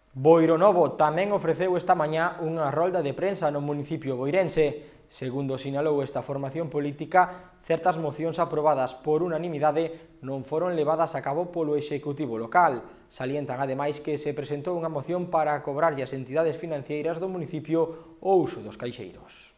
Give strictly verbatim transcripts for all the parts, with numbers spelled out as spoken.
Boironovo tamén ofreceu esta mañá unha rolda de prensa no municipio boirense. Segundo sinalou esta formación política, certas mocións aprobadas por unanimidade non foron levadas a cabo polo Executivo local. Salientan ademais que se presentou unha moción para cobrarlle ás entidades financeiras do municipio o uso dos caixeiros.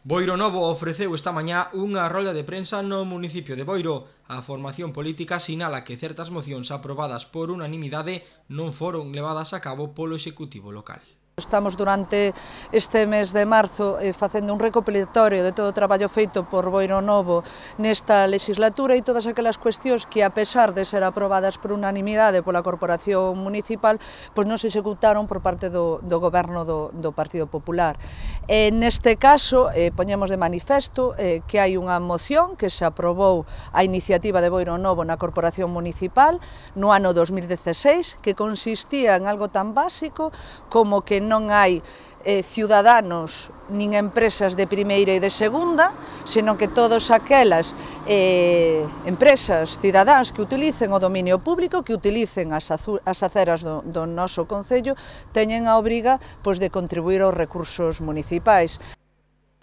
Boironovo ofreceu esta mañá unha rolda de prensa no municipio de Boiro. A formación política sinala que certas mocións aprobadas por unanimidade non foron levadas a cabo polo Executivo local. Estamos durante este mes de marzo eh, facendo un recopilatorio de todo o traballo feito por Boironovo nesta legislatura e todas aquelas cuestións que, a pesar de ser aprobadas por unanimidade pola Corporación Municipal, pois non se executaron por parte do, do Goberno do, do Partido Popular. E neste caso, eh, poñemos de manifesto eh, que hai unha moción que se aprobou a iniciativa de Boironovo na Corporación Municipal no ano dos mil dieciséis, que consistía en algo tan básico como que non hai eh, ciudadanos nin empresas de primeira e de segunda, senón que todas aquelas eh, empresas cidadáns que utilicen o dominio público, que utilicen as, as aceras do, do noso concello, teñen a obriga pois, de contribuir aos recursos municipais.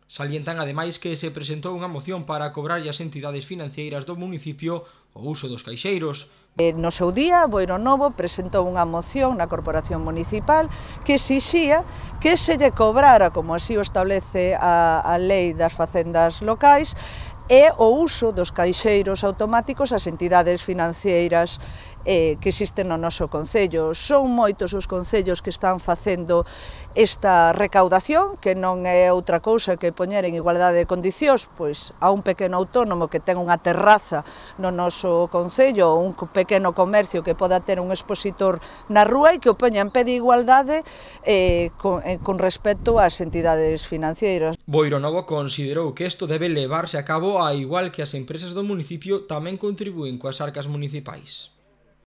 Salientan ademais que se presentou unha moción para cobrar as entidades financeiras do municipio o uso dos caixeiros. No seu día, Boironovo presentou unha moción na Corporación Municipal que exixía que se lle cobrara, como así o establece a, a Lei das Facendas Locais, e o uso dos caixeiros automáticos ás entidades financeiras eh, que existen no noso concello. Son moitos os concellos que están facendo esta recaudación, que non é outra cousa que poñer en igualdade de condicións pois, a un pequeno autónomo que ten unha terraza no noso concello ou un pequeno comercio que poda ter un expositor na rúa e que o poña en pé de igualdade eh, con, eh, con respecto ás entidades financeiras. Boironovo considerou que isto debe levarse a cabo a igual que as empresas do municipio tamén contribúen coas arcas municipais.